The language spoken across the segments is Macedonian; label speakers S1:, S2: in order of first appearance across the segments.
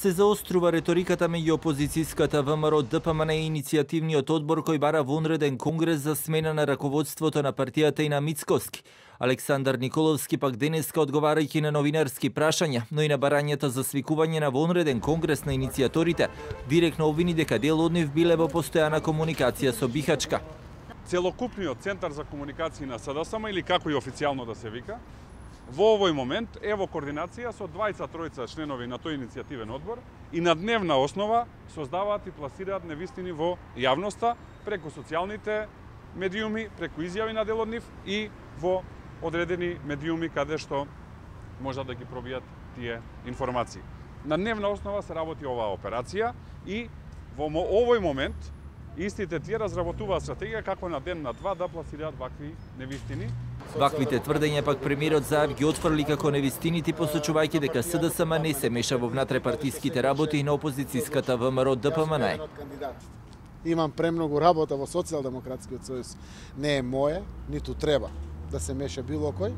S1: Се заострува реториката меѓу опозицијската ВМРО ДПМН и иницијативниот одбор кој бара вонреден конгрес за смена на раководството на партијата и на Мицковски. Александар Николовски пак денеска одговарајќи на новинарски прашања, но и на барањата за свикување на вонреден конгрес на иницијаторите, директно обвини дека дел од нив биле во постојана комуникација со Бихачка.
S2: Целокупниот центар за комуникација на СДСМ, или како и официјално да се вика, во овој момент е во координација со 23 членови на тој иницијативен одбор и на дневна основа создаваат и пласираат невистини во јавноста преку социјалните медиуми, преку изјави на дел од нив и во одредени медиуми каде што можат да ги пробијат тие информации. На дневна основа се работи оваа операција и во овој момент истите тие разработуваат стратегија како на ден на два да пласираат вакви невистини.
S1: Ваквите тврдења пак премиерот Заев ги отфрли како невистините, посочувајќи дека СДСМ не се меша во внатрепартиските работи на опозицијската ВМРО ДПМН.
S3: Имам премногу работа во Социјалдемократскиот сојуз. Не е моје, ниту треба да се меша било кој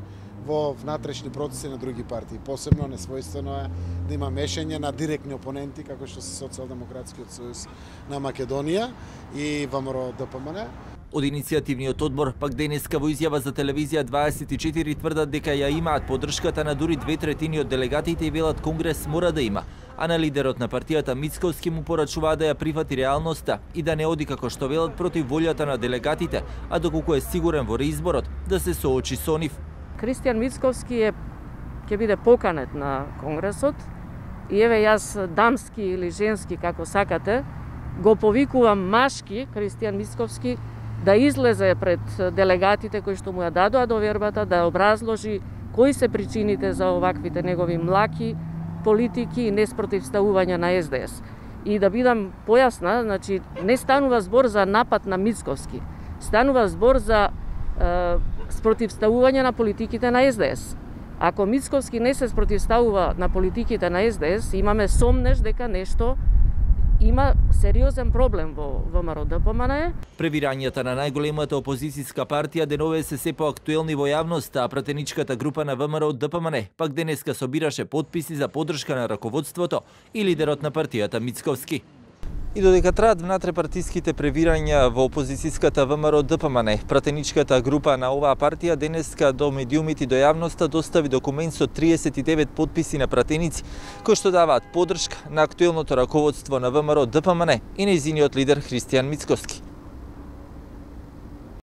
S3: во внатрешни процеси на други партии. Посебно несвојствено е да има мешање на директни опоненти како што се Социјалдемократскиот сојуз на Македонија и ВМРО ДПМН.
S1: Од иницијативниот одбор пак денеска во изјава за телевизија 24 тврдат дека ја имаат поддршката на дури 2/3 од делегатите и велат конгрес мора да има, а на лидерот на партијата Мицковски му порачуваат да ја прифати реалноста и да не оди како што велат против волјата на делегатите, а доколку е сигурен во реизборот да се соочи со нив.
S4: Кристијан Мицковски ќе биде поканет на конгресот и еве јас дамски или женски како сакате го повикувам машки Кристијан Мицковски да излезе пред делегатите кои што му ја дадоа довербата, да образложи кои се причините за оваквите негови млаки политики и неспротивставување на СДС. И да бидам појасна, значи не станува збор за напад на Мицковски, станува збор за спротивставување на политиките на СДС. Ако Мицковски не се спротивставува на политиките на СДС, имаме сомнеш дека нешто има сериозен проблем во ВМРО ДПМН.
S1: Превирањата на најголемата опозицијска партија денове се поактуелни во јавноста, а пратеничката група на ВМРО ДПМН пак денеска собираше потписи за поддршка на раководството и лидерот на партијата Мицковски. И додека траат внатрепартиските превирања во опозицијската ВМРО ДПМН, пратеничката група на оваа партија денеска до медиумите и до јавноста достави документ со 39 потписи на пратеници кои што даваат поддршка на актуелното раководство на ВМРО ДПМН и нејзиниот лидер Христијан Мицковски.